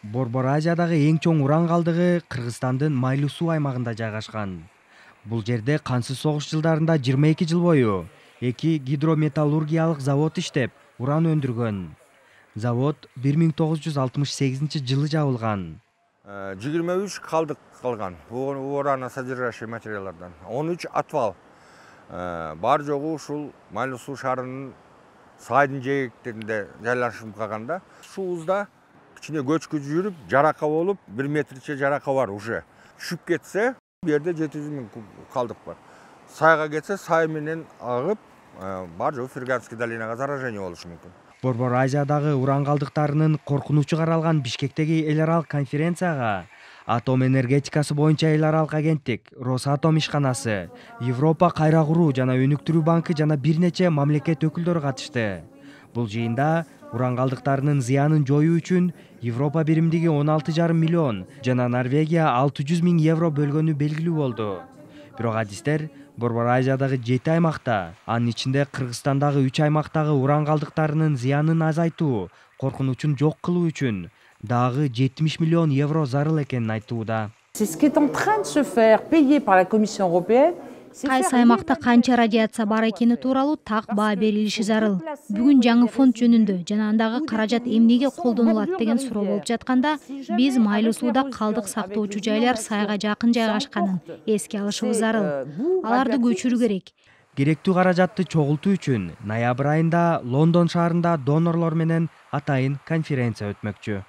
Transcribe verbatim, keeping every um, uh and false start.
Борбор Азиядагы эң чоң уран калдыгы Кыргызстандын Майлуу суу аймагында жайгашкан. Бул жерде кансыз согуш жылдарында жыйырма эки жыл бою эки гидрометаллургиялык завод иштеп, уран өндүргөн. Завод бир миң тогуз жүз алтымыш сегизинчи жылы жабылган. жыйырма үч калдык калган ураносодержащий материалдардан. он үч отвал. Бар жогу ушул Майлуу суу шаарынын сайдын жээктеринде жайлашып калганда, суубузда кичине көчкү жүрүп, жарака болуп, бир метрче жарака бар уже. Түшүп кетсе, бу жерде жети жүз миң калдык бар. Сайга кетсе, сай менен агып, бар жогу Ферганский долинага заражение болушу мүмкүн. Борбор Азиядагы уран калдыктарынын коркунучу каралган Бишкектеги эл аралык конференцияга атом энергетикасы боюнча эл аралык агенттик, Росатом ишканасы, Европа кайра куруу жана өнүктүрүү банкы жана бир нече мамлекет өкүлдөрү катышты. Бул жыйында уран калдыктарынын зыянын жоюу үчүн Европа биримдиги он алты жарым миллион жана Норвегия алты жүз миң евро бөлгөнү белгилүү болду. Бирок адистер Борбор Азиядагы жети аймакта, анын ичинде Кыргызстандагы үч аймактагы уран калдыктарынын зыянын азайтуу, коркунучун жок кылуу үчүн дагы жетимиш миллион евро зарыл экенин айтууда. Кайсы аймакта канча радиация бар экени тууралуу так баа берилиши зарыл. Бүгүн жаңы фонд жөнүндө жана андагы каражат эмнеге колдонулат деген суроо болуп жатканда, биз Майлуу сууда калдык сактоочу жайлар сайга жакын жайгашканын эске алышыбыз зарыл. Аларды көчүрүү керек. Керектүү каражатты чогултуу үчүн ноябрь айында Лондон шаарында донорлор менен атайын конференция өтмөкчү.